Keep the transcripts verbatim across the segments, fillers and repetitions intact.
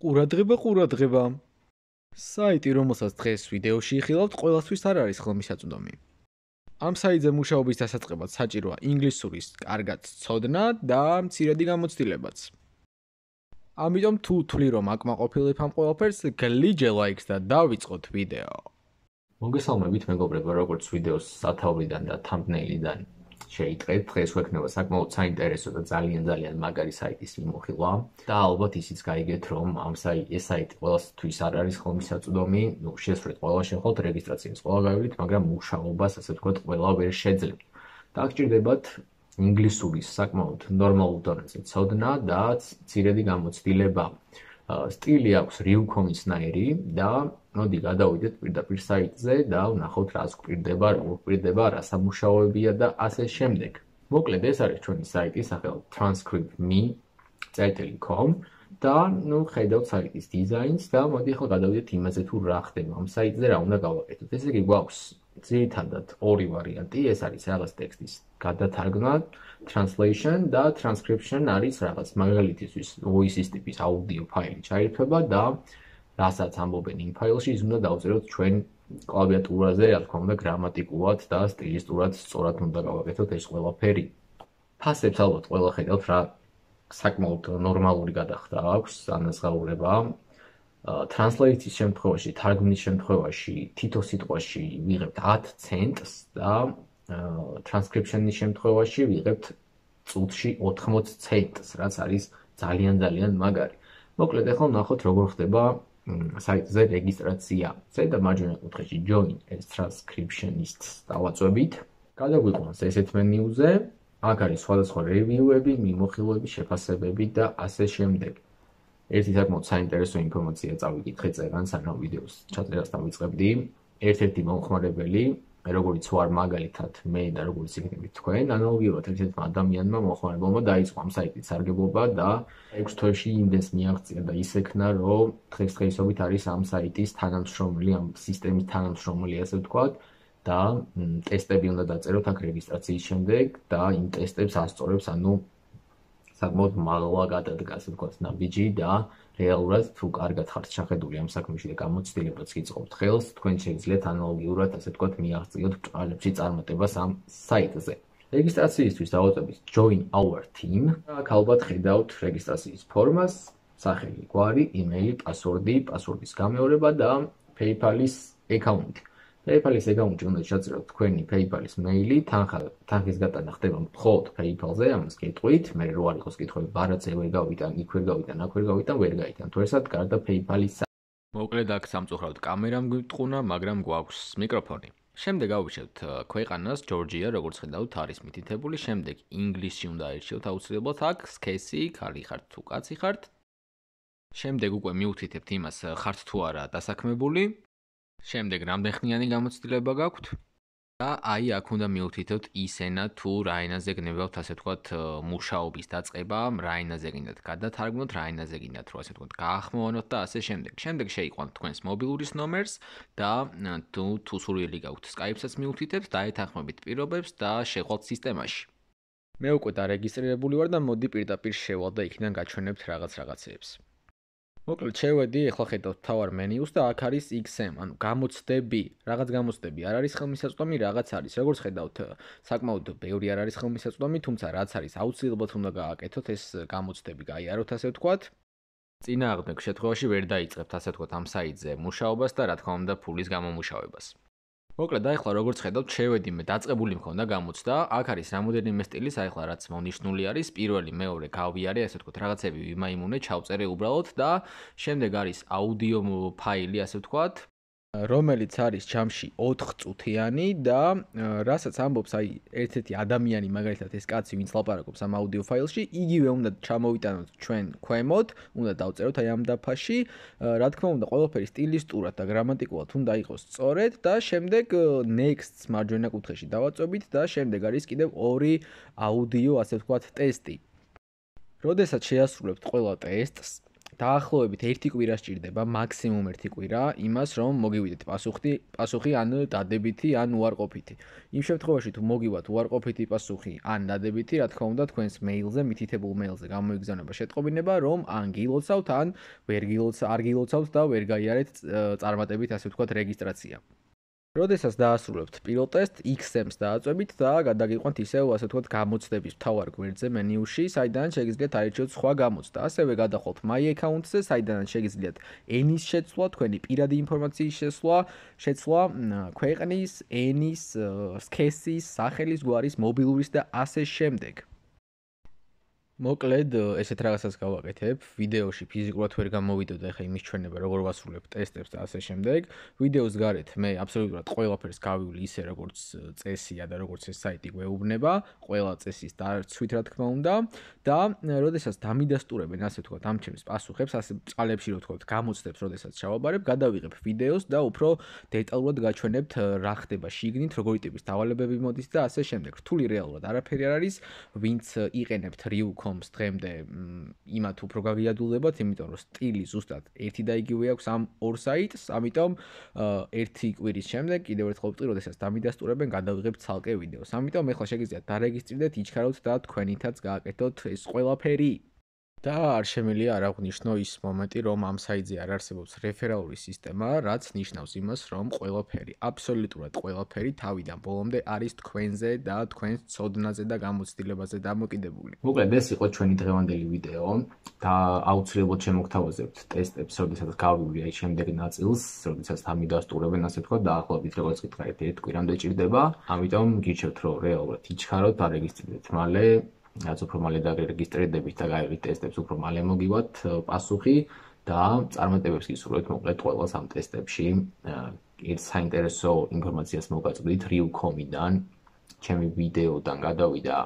ყურადღება, ყურადღება. საიტი, რომელსაც დღეს ვიდეოში იხილავთ, ყველასთვის არ არის ხელმისაწვდომი. ამ საიტზე მუშაობის დასაწყებად საჭიროა ინგლისურის კარგად ცოდნა და მცირედი გამოცდილებაც. ამიტომ თუ თვლი რომ აკმაყოფილებ ამ ყველაფერს, გლიჯე ლაიქს და დავიწყოთ ვიდეო. მოგესალმებით მეგობრებო, როგორც ვიდეოს სათაურიდან და thumbnail-იდან შეიტყეთ, დღეს ვექნება საკმაოდ საინტერესო და ძალიან ძალიან მაგარი საიტის მიმოხილვა და ალბათ ისიც გაიგეთ, რომ ამ საიტი ეს საიტი ყველასთვის არ არის ხელმისაწვდომი, ნუ შესრულეთ ყველა შეხოთ რეგისტრაციას ყველა გავიდით, მაგრამ მუშაობას, ასე ვთქვათ, ყველა ვერ შეძლებთ. დაგჭირდებათ ინგლისურის საკმაოდ ნორმალურ დონეზე ცოდნა და მცირედი გამოცდილება. სტილი აქვს Riucon-ისნაირი და მოდი გადავიდეთ პირდაპირ საიტზე და ვნახოთ რას გვპირდება, რა გვპირდება, რა სამუშაოებია და ასე შემდეგ. მოკლედ ეს არის ჩვენი საიტი, სახელად transcript dot me წერტილი com და ნუ ხედავთ საიტის დიზაინს და მოდი ახლა გადავიდეთ იმაზე თუ რა ხდება ამ საიტზე, რა უნდა გავაკეთოთ. ესე იგი გვაქვს ძირითადად ორი ვარიანტი, ეს არის რაღაც ტექსტის გადათარგმნა, translation და transcription არის რაღაც მაგალითისთვის voice-ის ტიპის აუდიო ფაილი ჩაირთვება და რასაც ამბობენ იმ ფაილში, ის უნდა დავწეროთ ჩვენ კლავიატურაზე, რა თქმა უნდა, გრამატიკულად და სტილისტურად სწორად უნდა გავაკეთოთ ეს ყველაფერი. ფასებს ალბათ ყველა ხედავთ რა საკმაოდ ნორმალური გადახდა აქვს ანაზღაურება. Translate-ის შემთხვევაში, თარგმნის შემთხვევაში, თითო სიტყვაში ვიღებთ ათ ცენტს და transcription-ის შემთხვევაში ვიღებთ წუთში ოთხმოც ცენტს, რაც არის ძალიან ძალიან მაგარი. მოკლედ ახლა ვნახოთ როგორ ხდება საიტზე რეგისტრაცია. ზედა მარჯვენა კუთხეში join as transcriptionist-ს დავაწვევით. გადაგვიყვანს ესეთ მენიუზე. აქ არის სხვადასხვა რევიუები, მიმოხილვები, შეფასებები და ასე შემდეგ. ერთი საკმაოდ საინტერესო ინფორმაცია წავიკითხე წერან, სანამ ვიდეოს ჩაწერას დავიწყებდი. ერთ-ერთი მომხმარებელი, როგორც ვარ მაგალითად მე და როგორც იქნებით თქვენ, ანალოგიურად ერთ-ერთმა ადამიანმა მომხმარებელმა დაიწყო ამ საიტის სარგებლობა და ექვს თვეში იმდენს მიაღწია და ისექნა, რომ დღესდღეობით არის ამ საიტის თანამშრომელი, ამ სისტემის თანამშრომელი, ასე ვთქვათ, და ტესტები უნდა დაწეროთ აქ რეგისტრაციის შემდეგ და იმ ტესტებს ასწორებს, ანუ საკმაოდ მაღლა გადადგა, ასე ვთქვათ, ნაბიჯი და რეალურად თუ კარგად ხართ ჩახედული ამ საქმეში და გამოცდილებაც გიწყობთ ხელს, თქვენ შეგიძლიათ ანალოგიურად, ასე ვთქვათ, მიაღწიოთ ბრწყალებში წარმატებას ამ საიტზე. რეგისტრაციისთვის დავაწვევით join our team. აქ ალბათ ხედავთ რეგისტრაციის ფორმას, სახელი, გვარი, იმეილი, პასვორდი, პასვორდის გამეორება და PayPal-ის აკაუნტი. PayPal-ის აკაუნტი უნდა ჩაწეროთ თქვენი PayPal-ის მეილი, თანხა, თანხის გატანა ხდება მხოლოდ PayPal-ზე, ამას გეტყვით, მე რო არ იყოს კითხვები, ბარათზე ვერ გავიტან, იქ ვერ გავიტან, აქ ვერ გავიტან, ვერ გაიტან. თუ ესად გარდა PayPal-ის. მოკლედ აქ სამწუხაროდ კამერამ გვიტყუნა, მაგრამ გვაქვს მიკროფონი. შემდეგ გავუშვებთ ქვეყანას, ჯორჯია, როგორც ხედავთ, არის მითითებული, შემდეგ ინგლისში უნდა აირჩიოთ აუცილებლად აქ, სქესი, ქალი ხართ თუ კაცი ხართ. შემდეგ უკვე მიუთითებთ იმას, ხართ თუ არა დასაქმებული. შემდეგ რამდენხნიანი გამოცდილება გაქვთ და აი აქ უნდა მიუთითოთ ისენა თუ რა ენაზე გნებავთ, ასე ვთქვათ, მუშაობის დაწყება, რა ენაზე გინდათ გადათარგმნოთ, რა ენაზე გინდათ რომ ასე ვთქვათ გაახმოვანოთ და ასე შემდეგ. შემდეგ შეიყვანთ თქვენს მობილურის ნომერს და თუ თუ სურვილი გაქვთ Skype-საც მიუთითებთ, დაეთანხმებით პირობებს და შეყვალთ სისტემაში. მე უკვე დარეგისტრირებული ვარ და მოდი პირდაპირ შევალ და იქიდან გაჩვენებთ რაღაც რაღაცეებს. მოკლედ შევედი, ახლა ხედავთ მთავარ მენიუს და აქ არის X M, ანუ გამოცდები. რაღაც გამოცდები არ არის ხელმისაწვდომი, რაღაც არის. როგორც ხედავთ, საკმაოდ ბევრი არ არის ხელმისაწვდომი, თუმცა რაც არის აუცილებლად უნდა გააკეთოთ, ეს გამოცდები გაიაროთ, ასე ვთქვათ. წინააღმდეგ შემთხვევაში ვერ დაიწყებთ, ასე ვთქვათ, ამ საიტზე მუშაობას და რა თქმა უნდა ფულის გამომუშავებას. მოკლედ, ახლა როგორც ხედავთ, შევედი მე დაწყებული მქონდა გამოცდა, აქ არის რამოდენიმე სტილის, ახლა რაც მონიშნული არის, პირველი, მეორე გავიარე, ასე ვთქვათ, რაღაცები ვიმაიმუნე, ჩავწერე უბრალოდ და შემდეგ არის აუდიო ფაილი, ასე ვთქვათ, რომელიც არის ჯამში ოთხწუთიანი და რასაც ამბობს აი ერთ-ერთი ადამიანი, მაგალითად ეს კაცი, ვინც ლაპარაკობს ამ აუდიო ფაილში, იგივე უნდა ჩამოვიტანოთ ჩვენ ქვემოთ, უნდა დავწეროთ აი ამ დაფაში, რა თქმა უნდა, ყველაფერი სტილისტურად და გრამატიკულად უნდა იყოს სწორედ და შემდეგ next-ს მარჯვენა კუთხეში დავაწვევით და შემდეგ არის კიდევ ორი აუდიო, ასე ვთქვათ, ტესტი. როდესაც შეასრულებთ ყველა ტესტს, დაახლოებით ერთი კვირა სჭირდება, მაქსიმუმ ერთი კვირა, იმას რომ მოგივიდეთ პასუხი, პასუხი ან დადებითი, ან უარყოფითი. იმ შემთხვევაში თუ მოგივათ უარყოფითი პასუხი ან დადებითი, რა თქმა უნდა, თქვენს მეილზე, მითითებულ მეილზე გამოიგზავნება შეტყობინება, რომ ან გილოცავთ, ან ვერ გილოცავთ, არ გილოცავთ და ვერ გაიარეთ წარმატებით, ასე ვთქვათ, რეგისტრაცია. როდესაც დაასრულებთ პირველ ტესტ, X-ს დააწვევით და გადაგიყვანთ ისევ, ასე ვთქვათ, გამოცდების მთავარ გვერდზე მენიუში, საიდანაც შეგიძლიათ აირჩიოთ სხვა გამოცდა. ასევე გადახვალთ My Account-ზე, საიდანაც შეგიძლიათ ენის შეცვლა, თქვენი პირადი ინფორმაციის შესვლა, შეცვლა, ქვეყნის, ენის, სქესის, სახელის, გვარის, მობილურის და ასე შემდეგ. მოკლედ, ესეთ რაღაცას გავაკეთებ, ვიდეოში ფიზიკურად ვერ გამოვიდოდ ახლა იმის ჩვენება, როგორ ვასრულებ ტესტებს და ასე შემდეგ. ვიდეოს გარეთ მე აბსოლუტურად ყველაფერს გავივლი ისე, როგორც წესია და როგორც ეს საიტი გვეუბნება, ყველა წესის დარცვით, რა თქმა უნდა, და როდესაც დამიდასტურებენ, ასე ვთქვათ, ამ ჩემს პასუხებს, ასე წყალებში, რო ვთქვათ, გამოცდებს, როდესაც ჩავაბარებ, გადავიღებ ვიდეოს და უფრო დეტალურად გაჩვენებთ, რა ხდება შიგნით, როგორი ტიპის დავალებები მოდის და ასე შემდეგ. რთული რეალურად არაფერი არ არის, ვინც იყენებთ რიუ კრიტიკ პლატფორმს დღემდე იმათ უფრო გაგიადულებათ, იმიტომ რომ სტილი ზუსტად ერთი და იგივე აქვს ამ ორ საიტს, ამიტომ ერთი კვირის შემდეგ კიდევ ერთხელ ვიტყვი, როდესაც დამიდასტურებენ, გადავიღებთ ცალკე ვიდეოს. ამიტომ ეხლა შეგიძლიათ დარეგისტრირდეთ, იჩქაროთ და თქვენითაც გააკეთოთ ეს ყველაფერი. და არ შემიძლია არ აღვნიშნო ის მომენტი, რომ ამ საიტზე არ არსებობს რეფერალური სისტემა, რაც ნიშნავს იმას, რომ ყველაფერი, აბსოლუტურად ყველაფერი თავიდან ბოლომდე არის თქვენზე და თქვენს ცოდნაზე და გამოცდილებაზე დამოკიდებული. მოკლედ ეს იყო ჩვენი დღევანდელი ვიდეო და აუცილებლად შემოგთავაზებთ ტესტებს, როდესაც გავივლი აი შემდეგ ნაწილს, როდესაც დამიდასტურებენ, ასე ვთქვათ, დაახლოებით როგორც გითხარით, ერთ კვირამდე ჭირდება. ამიტომ გიჩვენებთ, რომ რეალურად იჩქაროთ, დარეგისტრირდეთ მალე. რაც უფრო მალე დარეგისტრირდებით და გაიღეთ ტესტებს, უფრო მალე მოგივათ პასუხი და წარმატებებს გისურვებთ მოკლედ ყველას ამ ტესტებში. ერთ საინტერესო ინფორმაციას მოგაწვდით რიუ კრიტიკ პლატფორმიდან, ჩემი ვიდეოდან გადავიდა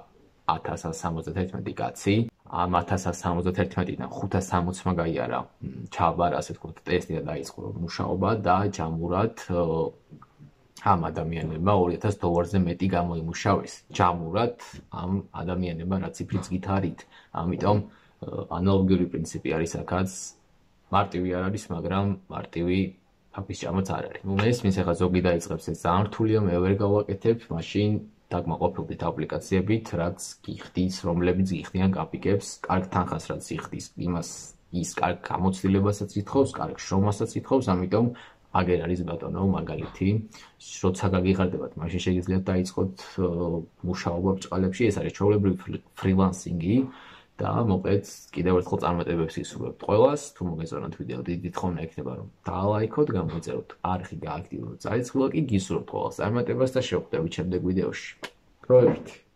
ათას სამოცდათერთმეტი კაცი. ამ ათას სამოცდათერთმეტიდან ხუთას სამოცმა გაიარა ჩაბარ, ასე ვთქვათ, ტესტი და დაიწყო მუშაობა და ჯამურად ამ ადამიანებმა ორი ათას დოლარზე მეტი გამოიმუშავეს. ჯამურად ამ ადამიანებმა რა ციფრიც გითარით. ამიტომ ანალოგიური პრინციპი არის აქაც. მარტივი არ არის, მაგრამ მარტივი ფაქის ჭამაც არ არის. ნუ მესმის ახლა ზოგი დაიწყებს ეს ძალიან რთულია, მე ვერ გავაკეთებ, მაშინ დაგმაყოფილდით აპლიკაციებით, რაც გიხდის, რომლებიც გიხდიან კაპიკებს, კარგ თანხას რაც იხდის, იმას ის კარგ გამოცდილებასაც ითხოვს, კარგ შრომასაც ითხოვს, ამიტომ აგერ არის ბატონო მაგალითი, როცა გაგიხარდებათ, მაშინ შეგიძლიათ დაიწყოთ მუშაობა ბრჭყალებში, ეს არის ჩვეულებრივი ფრილანსინგი და მოკლედ კიდევ ერთხელ წარმატებებს გისურვებთ ყველას, თუ მოგეწონათ ვიდეო, დიდი თხოვნა ექნება რომ დაალაიქოთ, გამოიწეროთ არხი, გააქტიუროთ წარიცხვა, კი გისურვებთ ყველას წარმატებას და შევხვდებით შემდეგ ვიდეოში. დროებით.